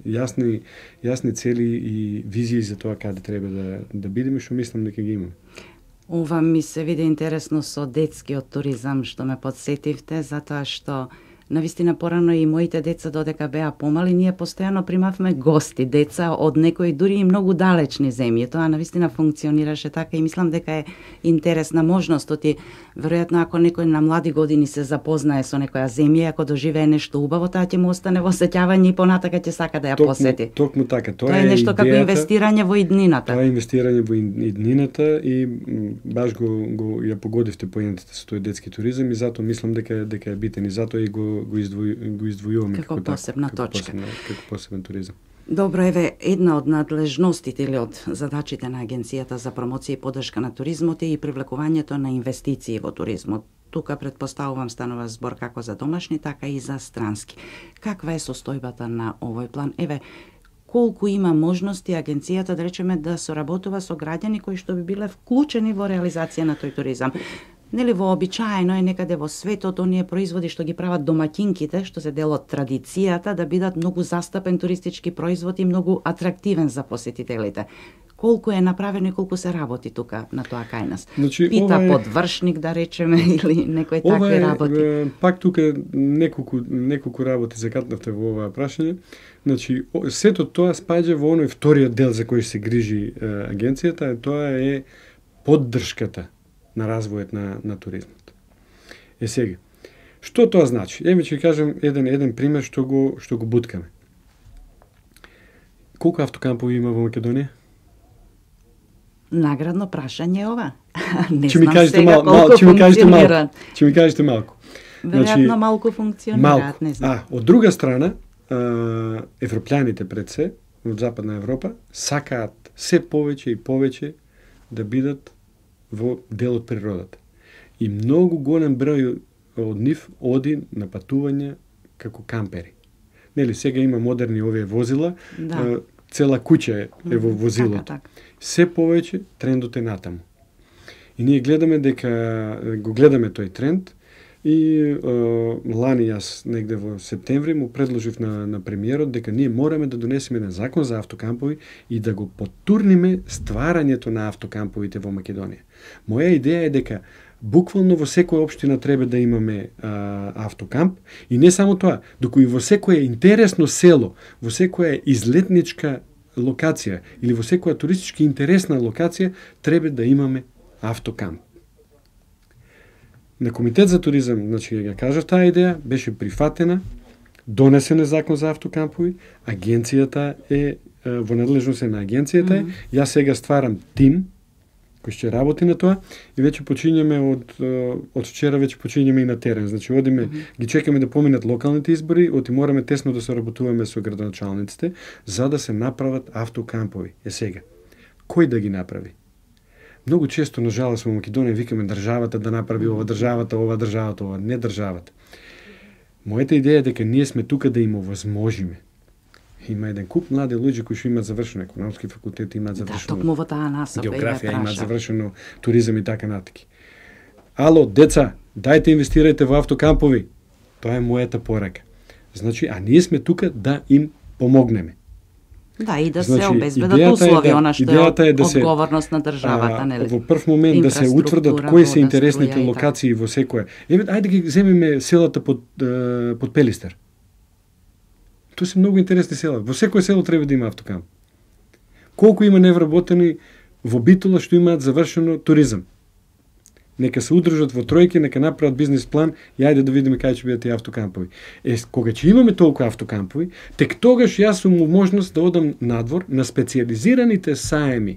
јасни цели и визии за тоа каде треба да бидеме, што мислам дека ги имаме. Ова ми се види интересно со детскиот туризам што ме подсетивте, затоа што навистина порано и моите деца додека беа помали, ние постојано примавме гости, деца од некои дури и многу далечни земји. Тоа навистина функционираше така и мислам дека е интересна можност. Оти веројатно ако некој на млади години се запознае со некоја земја, ако доживее нешто убаво, таа ќе му остане во сеќавање и понатака ќе сака да ја посети. Токму така. Тоа е нешто како инвестирање во иднината. Тоа е инвестирање во иднината и баш го ја погодивте поентите со тој детски туризам и затоа мислам дека е битен и затоа и го издвојуваме како посебна точка. Како посебен туризам. Добро, еве, една од надлежностите или од задачите на Агенцијата за промоција и поддршка на туризмот е и привлекувањето на инвестиции во туризмот. Тука предпоставувам станува збор како за домашни, така и за странски. Каква е состојбата на овој план? Еве, колку има можности агенцијата, да речеме, да соработува со граѓани кои што би биле вклучени во реализација на тој туризам? Нели вообичаено е некаде во светот оние производи што ги прават домакинките, што се дел од традицијата, да бидат многу застапен туристички производ и многу атрактивен за посетителите. Колку е направено и колку се работи тука на тоа кај нас? Значи, Пита подвршник, да речеме, или некои такви работи. Пак тука неколку работи закатнавте во оваа прашање. Значи, сето тоа спаѓа во оној вториот дел за кој се грижи агенцијата, тоа е поддршката на развојот на туризмот. Сега, што тоа значи? Еве ќе кажам еден пример што го буткаме. Колку автокампови има во Македонија? Наградно прашање ова. Не знам сега колку функционираат. Ќе ми кажете малку. Веројатно малку функционираат, не знам. Од друга страна, европјаните пред се, од Западна Европа, сакаат се повеќе и повеќе да бидат во дел од природата. И многу голем број од нив оди на патување како кампери. Нели, сега има модерни овие возила, да. Цела куќа е во возилото. Така. Се повеќе трендот е натаму. И ние гледаме го гледаме тој тренд и лани јас негде во септември му предложив на премиерот дека ние мораме да донесеме на закон за автокампови и да го потурниме стварањето на автокамповите во Македонија. Моја идеја е дека буквално во секоја општина треба да имаме автокамп и не само тоа, доку и во секое интересно село, во секоја излетничка локација или во секоја туристички интересна локација треба да имаме автокамп. На Комитет за туризам, значи ја кажав таа идеја, беше прифатена, донесен е закон за автокампови, агенцијата е во надлежност на агенцијата е, јас сега стварам тим кој ќе работи на тоа и веќе почињаме од вчера веќе почињаме и на терен. Значи одиме, ги чекаме да поминат локалните избори, мораме тесно да соработуваме со градоначалниците за да се направат автокампови. Сега, кој да ги направи? Многу често, на жалост, во Македонија викаме државата да направи ова државата, не државата. Мојата идеја е дека ние сме тука да им овозможиме. Има еден куп млади луѓе кои што имаат завршено економски факултет, имаат завршено географија, имаат завршено туризам и така натаки. Ало, деца, дајте инвестирајте во автокампови. Тоа е мојата порака. Значи, а ние сме тука да им помогнеме. Да, и да се обезбедат услови, она што е одговорност на државата, нели? Во прв момент да се утврдат кои се интересните локации во секоја. Еве, ајде ги земеме селата под Пелистер. Тоа се многу интересни села. Во секој село треба да има автокамп. Колку има невработени во Битола што имаат завршено туризам? Нека се удржат во тројки, нека направат бизнес план и ајде да видиме кај ќе бидат тие автокампови. Кога ќе имаме толку автокампови, тек тогаш јас сум во можност да одам надвор на специјализираните саеми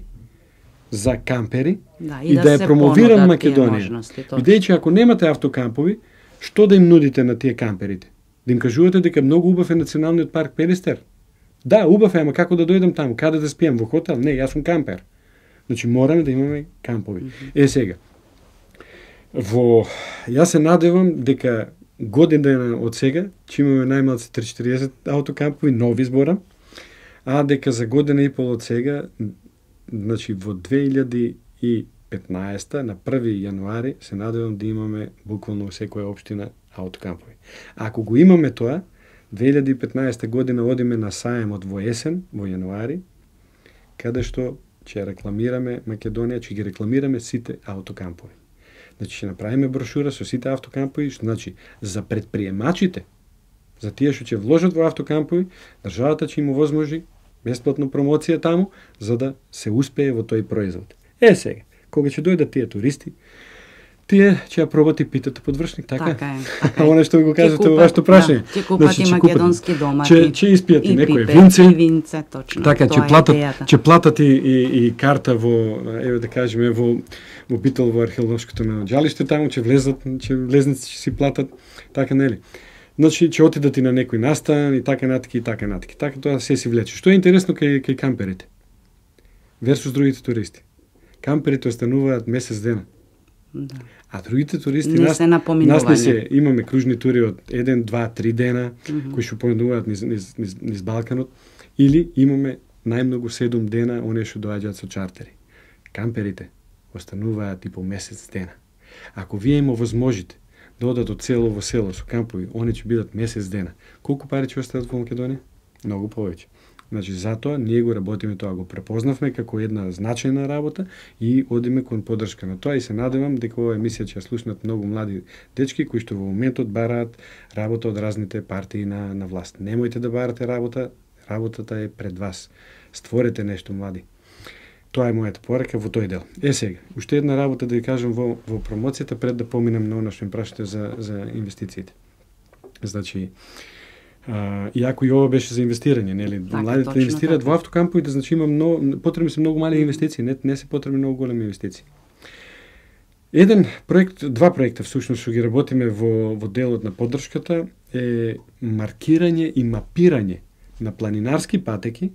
за кампери и да ја промовирам Македонија. Бидејќи ако немате автокампови, што да им нудите на тие камперите? Да им кажувате дека многу убав е националниот парк Пелистер? Да, убав е, ама како да дојдам таму? Каде да спијам? Во хотел? Не, јас сум кампер. Значи мораме да имаме кампови. Сега, јас се надевам дека година од сега ќе имаме најмалку 30-40 автокампови, нови зборам, а дека за година и пол од сега, значи во 2015 на 1 јануари се надевам да имаме буквално во секоја општина автокампови. Ако го имаме тоа, 2015 година одиме на саемот во есен, во јануари, каде што ќе рекламираме Македонија, ќе ги рекламираме сите автокампови. Значи ќе направиме брошура со сите автокампови, што значи за предприемачите, за тие што ќе вложат во автокампови, државата ќе им овозможи бесплатно промоција таму, за да се успее во тој производ. Сега, кога ќе дојдат тие туристи, тие ќе ја пробат и питате подвршник, така? Така е. Она што го кажете во вашето прашање. Ќе купат и македонски домати. Ќе испијат и некој винце, точно. Така, ќе платат и карта во, еве да кажеме, во Битол, во археолошкото наоѓалиште, таму ќе влезници ќе си платат, така нели? Значи, ќе отидат и на некој настан и така натака и така натака. Така тоа се си влече. Што е интересно кај камперите? Версус другите туристи. Камперите остануваат месец дена. Да. А другите туристи не се напоминување. Имаме кружни тури од 1, 2, 3 дена кои што поминуваат низ Балканот, или имаме најмногу 7 дена оние што доаѓаат со чартери. Камперите остануваат и по месец дена. Ако вие им овозможите да одат од село во село со кампови, они ќе бидат месец дена. Колку пари ќе остават во Македонија? Многу повеќе. Значи, затоа ние го работиме тоа, го препознавме како една значајна работа и одиме кон поддршка на тоа и се надевам дека оваа емисија ќе ја слушнат многу млади дечки кои што во моментот бараат работа од разните партии на власт. Немојте да барате работа, работата е пред вас. Створете нешто, млади. Тоа е мојата порака во тој дел. Сега, уште една работа да ви кажам во промоцијата пред да поминам на она што им прашате за инвестициите. Значи, иако и ова беше за инвестирање, нели? Младите да инвестираат во автокамповите, значи има потребни се многу мали инвестиции, не се потребни многу големи инвестиции. Два проекта всушност што ги работиме во делот на поддршката е маркирање и мапирање на планинарски патеки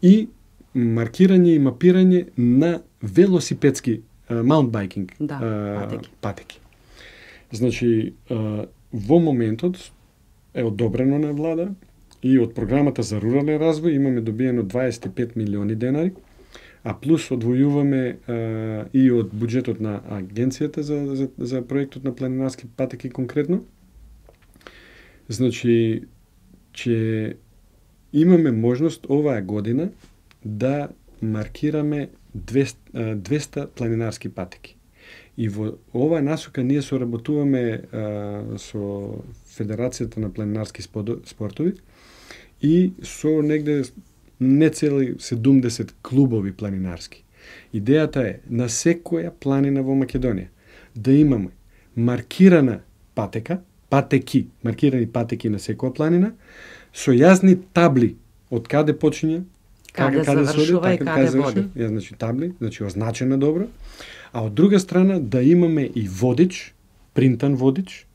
и маркирање и мапирање на велосипедски маунтбайкинг патеки. Значи, во моментот е одобрено на влада и од програмата за рурален развој имаме добиено 25 милиони денари, а плюс одвојуваме и од буџетот на агенцијата за проектот на планинарски патеки конкретно. Значи, че имаме можност оваа година да маркираме 200 планинарски патеки. И во оваа насока ние соработуваме со Федерацијата на планинарски спортови и со негде не цели 70 клубови планинарски. Идејата е на секоја планина во Македонија да имаме маркирана маркирани патеки на секоја планина, со јазни табли од каде почиња, каде завршува и каде води. Значи табли, значи означена добро. А од друга страна да имаме и водич, принтан водич,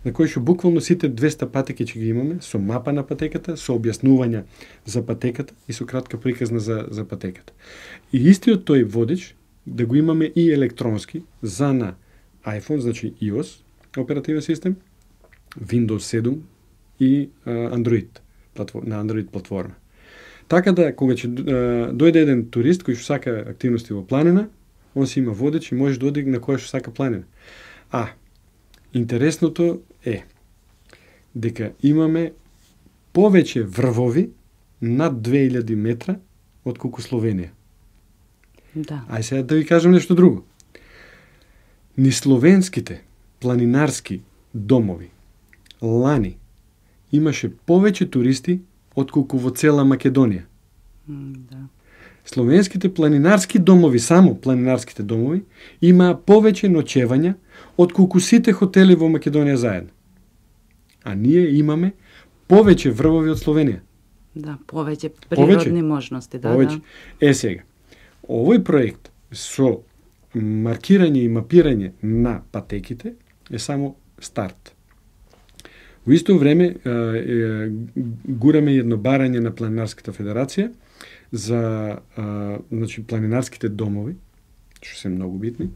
на кој што буквално сите 200 патеки ќе ги имаме, со мапа на патеката, со објаснувања за патеката и со кратка приказна за патеката. И истиот тој водич да го имаме и електронски за на iPhone, значи iOS оперативен систем, Windows 7 и Android, на Android платформа. Така да, кога ќе дојде еден турист кој што сака активности во планина, он си има водеч и може да оди на која што сака планина. Интересното е дека имаме повеќе врвови над 2000 метра од колку Словенија. Да. Ај сега да ви кажам нешто друго. Ни словенските планинарски домови лани имаше повеќе туристи од колку во цела Македонија. Да. Словенските планинарски домови, само планинарските домови, имаа повеќе ноќевања од колку сите хотели во Македонија заедно. А ние имаме повеќе врвови од Словенија. Да, повеќе природни можности. Да. Сега, овој проект со маркирање и мапирање на патеките е само старт. Во исто време гураме едно барање на Планинарската федерација за значи, планинарските домови, што се многу битни,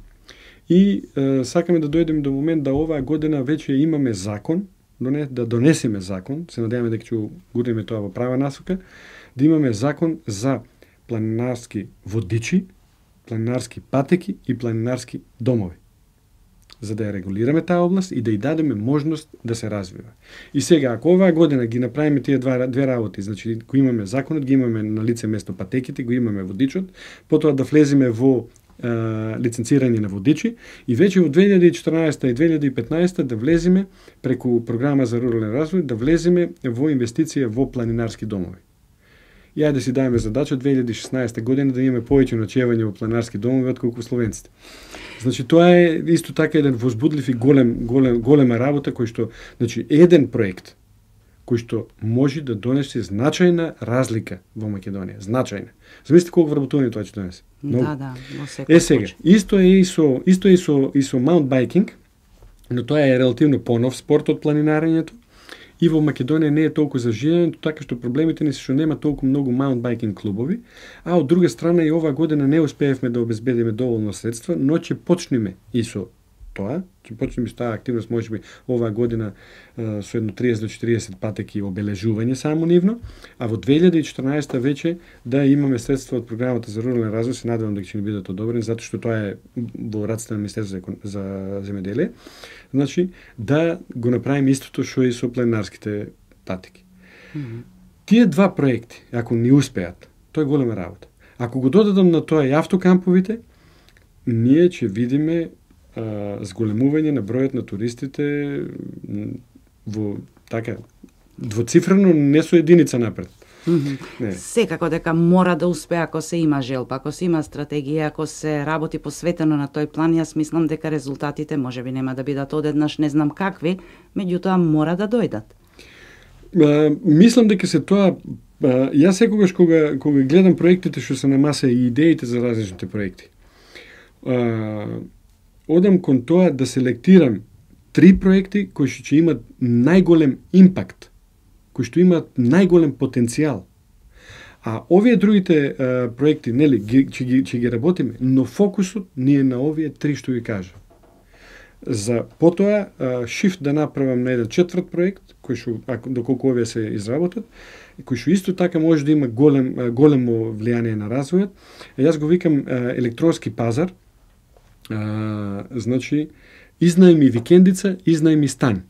и сакаме да дојдеме до момент да оваа година веќе имаме закон, да донесеме закон, се надеваме дека ќе гурнеме тоа во права насока, да имаме закон за планинарски водичи, планинарски патеки и планинарски домови, за да ја регулираме таа област и да ја дадеме можност да се развива. И сега, ако оваа година ги направиме тие две работи, значи го имаме законот, ги имаме на лице место патеките, го имаме водичот, потоа да влеземе во лиценцирање на водичи и веќе во 2014 и 2015 да влеземе преку програма за рурален развој, да влеземе во инвестиција во планинарски домови. И ајде да си даеме задача 2016 година да имаме повеќе ноќевање во планинарски домови отколку словенците. Значи тоа е исто така еден возбудлив и голема работа кој што, значи еден проект кој што може да донесе значајна разлика во Македонија, значајна. Замислите колку вработување тоа ќе донесе. Да, во секој сега, исто е и со маунтбайкинг, но тоа е релативно понов спорт од планинарењето и во Македонија не е толку заживено, така што проблемите ни се што нема толку многу маунтбайкинг клубови, а од друга страна и оваа година не успеевме да обезбедиме доволно средства, но ќе почнеме и со тоа, ќе почнеме со таа активност можеби оваа година со едно 30 до 40 патеки обележување само нивно, а во 2014 веќе да имаме средства од програмата за рурален развој, се надевам дека ќе ни бидат одобрени, затоа што тоа е во раците на Министерството за земјоделие. Значи, да го направиме истото што и со пленарските патеки. Тие два проекти, ако ни успеат, тоа е голема работа. Ако го додадам на тоа и автокамповите, ние ќе видиме зголемување на бројот на туристите во така двоцифрено, не со единица напред. Секако дека мора да успее ако се има желба, ако се има стратегија, ако се работи посветено на тој план, јас мислам дека резултатите можеби нема да бидат одеднаш не знам какви, меѓутоа мора да дојдат. Мислам дека се тоа јас секогаш кога гледам проектите што се на маса и идеите за различните проекти, одам кон тоа да селектирам 3 проекти кои ќе имат најголем импакт, кои што имаат најголем потенцијал. А овие другите проекти, нели, ќе ги работиме, но фокусот ни е на овие 3 што ги кажа. За потоа шифт да направам на еден 4 проект, кој што доколку овие се изработат, кој што исто така може да има големо влијание на развојот. Јас го викам електронски пазар. Значи, изнајми викендица, изнајми стан.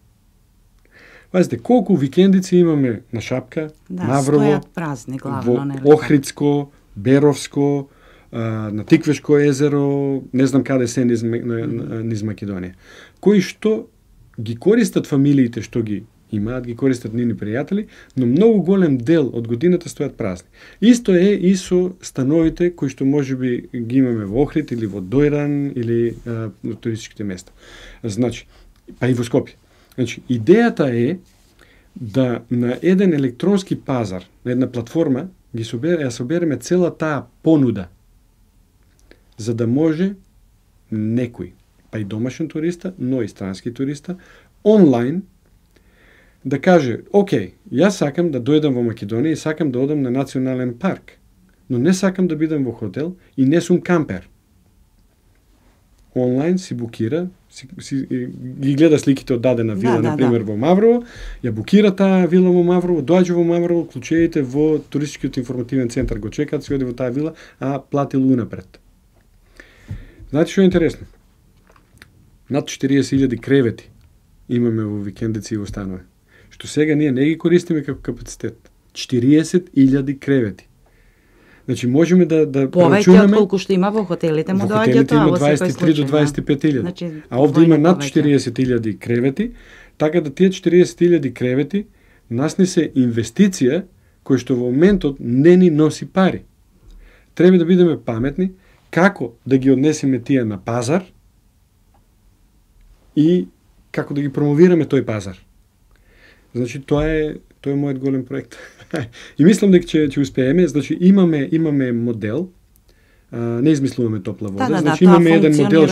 Пазите, колку викендици имаме на Шапка, Маврово, празни, главно, во Охридско, Беровско, на Тиквешко езеро, не знам каде се низ Македонија, кои што ги користат фамилиите што ги имаат, ги користат нивни пријатели, но многу голем дел од годината стојат празни. Исто е и со становите кои што можеби ги имаме во Охрид или во Дојран или на туристичките места. Значи, па и во Скопје. Значи, идејата е да на еден електронски пазар, на една платформа, ја собереме цела таа понуда, за да може некој, па и домашен туриста, но и странски туриста, онлайн, да каже, окей, јас сакам да дојдам во Македонија и сакам да одам на национален парк, но не сакам да бидам во хотел и не сум кампер. Онлайн си букира, ги гледа сликите од дадена вила, например во Маврово, ја букира таа вила во Маврово, доаѓа во Маврово, клучеите во туристичкиот информативен центар го чекаат, си оди во таа вила, а платил унапред. Знаете што е интересно? Над 40.000 кревети имаме во викендици и во станови, што сега ние не ги користиме како капацитет. 40.000 кревети. Значи можеме да повеќе од колку што има во хотелите, му доаѓа тоа во секој случај. 23 до 25.000. Значи, а овде има над 40.000 кревети, така да тие 40.000 кревети нас не се инвестиција која што во моментот не ни носи пари. Треба да бидеме паметни како да ги однесеме тие на пазар и како да ги промовираме тој пазар. Значи тоа е мојот голем проект. И мислам дека ќе успееме, значи имаме модел, не измислуваме топла вода, значи имаме еден модел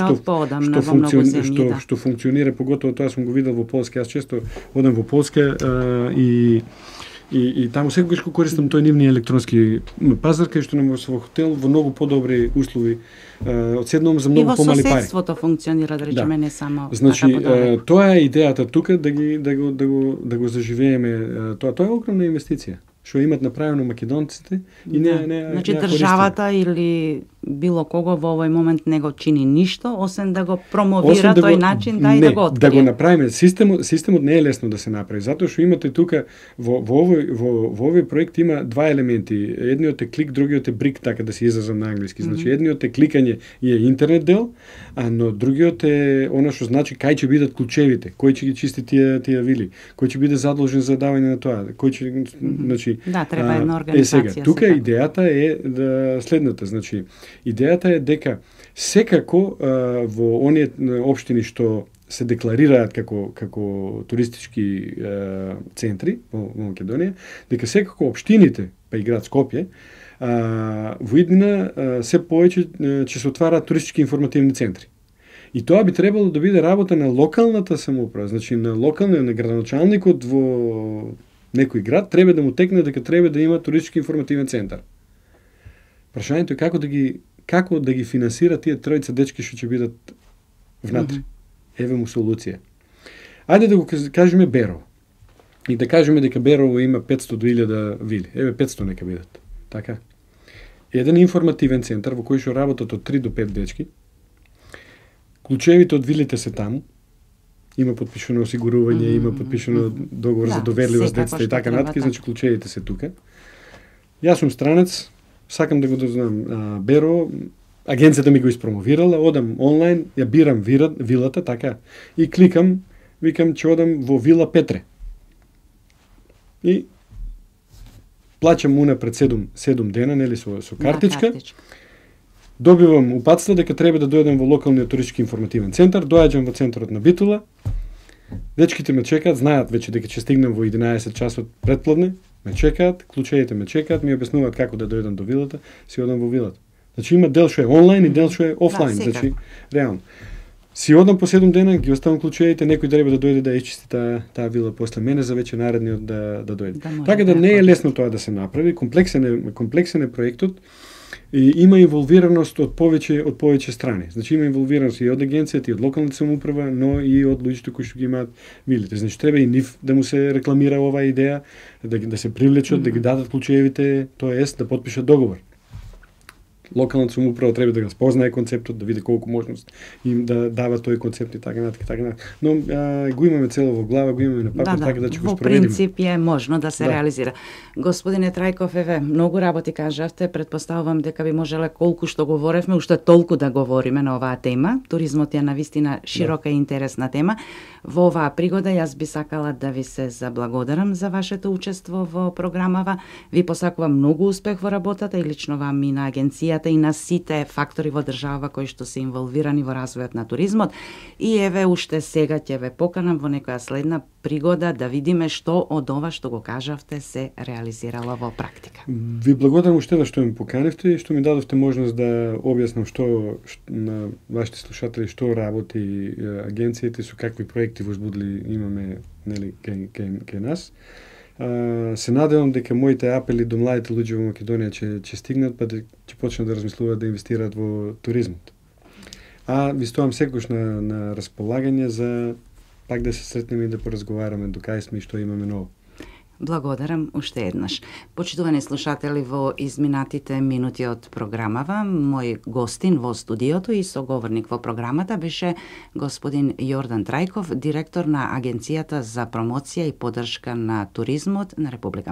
што функционира, поготово тоа сум го видел во Полска, јас често одам во Полска и таму секогаш го користам тој нивни електронски пазар, кај што нам во хотел во многу подобри услови, одседнувам за многу помали пари. И во соседството функционира, да речеме, не само значи, тоа е идејата тука да го заживееме, тоа е огромна инвестиција што имат направено македонците и не значи државата или било кого во овој момент не го чини ништо, освен да го промовира тој начин, да и да го открие. Да го направиме. Системот не е лесно да се направи, затоа што имате тука во овој проект има два елементи. Едниот е клик, другиот е брик, така да се изразам на англиски. Значи едниот е кликање и е интернет дел, но другиот е она што значи кај ќе бидат клучевите, кој ќе ги чисти тие вили, кој ќе биде задолжен за давање на тоа, кој ќе значи треба една организација. Сега, тука идејата е следната, значи идејата е дека секако во оние општини што се декларираат како туристички центри во Македонија, дека секако општините, па и град Скопје, во иднина се повеќе ќе се отвараат туристички информативни центри. И тоа би требало да биде работа на локалната самоуправа, значи на локалниот, на градоначалникот во некој град треба да му текне дека треба да има туристички информативен центар. Прашањето е како да ги финансира тие тројца дечки што ќе бидат внатре. Еве му солуција. Ајде да го кажеме Берово. И да кажеме дека Берово има 500 до 1000 вили. Еве 500 нека бидат. Така. Еден информативен центар во кој што работат од 3 до 5 дечки. Клучевите од вилите се таму. Има подпишано осигурување, има подпишано договор за доверливост децата и така натаму, значи клучевите се тука. Јас сум странец, сакам да го дознам Берово, агенцијата ми го испромовирала, одам онлайн, ја бирам вилата, така, и кликам, викам че одам во Вила Петре. И плачам унапред 7 дена, нели, со картичка. Добивам упатство дека треба да дојдем во локалниот туристички информативен центар, доаѓам во центарот на Битола, дечките ме чекаат, знаат веќе дека ќе стигнем во 11 часот предпладне, ме чекаат, клучеите ме чекаат, ми објаснуваат како да дојдам до вилата, си одам во вилата. Значи има дел што е онлайн и дел што е офлайн, значи реално. Си одам по 7 дена, ги оставам клучеите, некој треба да дојде да исчисти таа вила после мене за веќе наредниот да дојде. Така да не е лесно тоа да се направи, комплексен е проектот. И има инволвираност од повеќе страни. Значи има инволвираност и од агенцијата, и од локалната самоуправа, но и од луѓето кои што ги имаат вилите. Значи треба и нив да му се рекламира оваа идеја, да се привлечат, да ги дадат клучевите, тоест да потпишат договор. Локалната самоуправа треба да го спознае концептот, да види колку можност им да дава тој концепт и така натаму. Но го имаме цело во глава, го имаме на папир, така да ќе го спроведиме. Во принцип е можно да се реализира. Господине Трајков, еве, многу работи кажавте, претпоставувам дека би можеле колку што говоревме, уште толку да говориме на оваа тема. Туризмот е навистина широка и интересна тема. Во оваа пригода јас би сакала да ви се заблагодарам за вашето учество во програмава. Ви посакувам многу успех во работата и лично вам и на агенцијата и на сите фактори во држава кои што се инволвирани во развојот на туризмот. И еве уште сега ќе ве поканам во некоја следна пригода да видиме што од ова што го кажавте се реализирало во практика. Ви благодарам уште што ме поканивте и што ми дадовте можност да објаснам што на вашите слушатели што работи агенцијата и со какви проекти возбудили имаме, нели, кај нас. Се надевам дека моите апели до младите луѓе во Македонија ќе стигнат, па ќе почнат да размислуваат да инвестираат во туризмот. Ви стоам секогаш на располагање за пак да се сретнеме и да поразговараме до кај сме и што имаме ново. Благодарам уште еднаш. Почитувани слушатели, во изминатите минути од програмава, мој гостин во студиото и соговорник во програмата беше господин Јордан Трајков, директор на Агенцијата за промоција и поддршка на туризмот на Република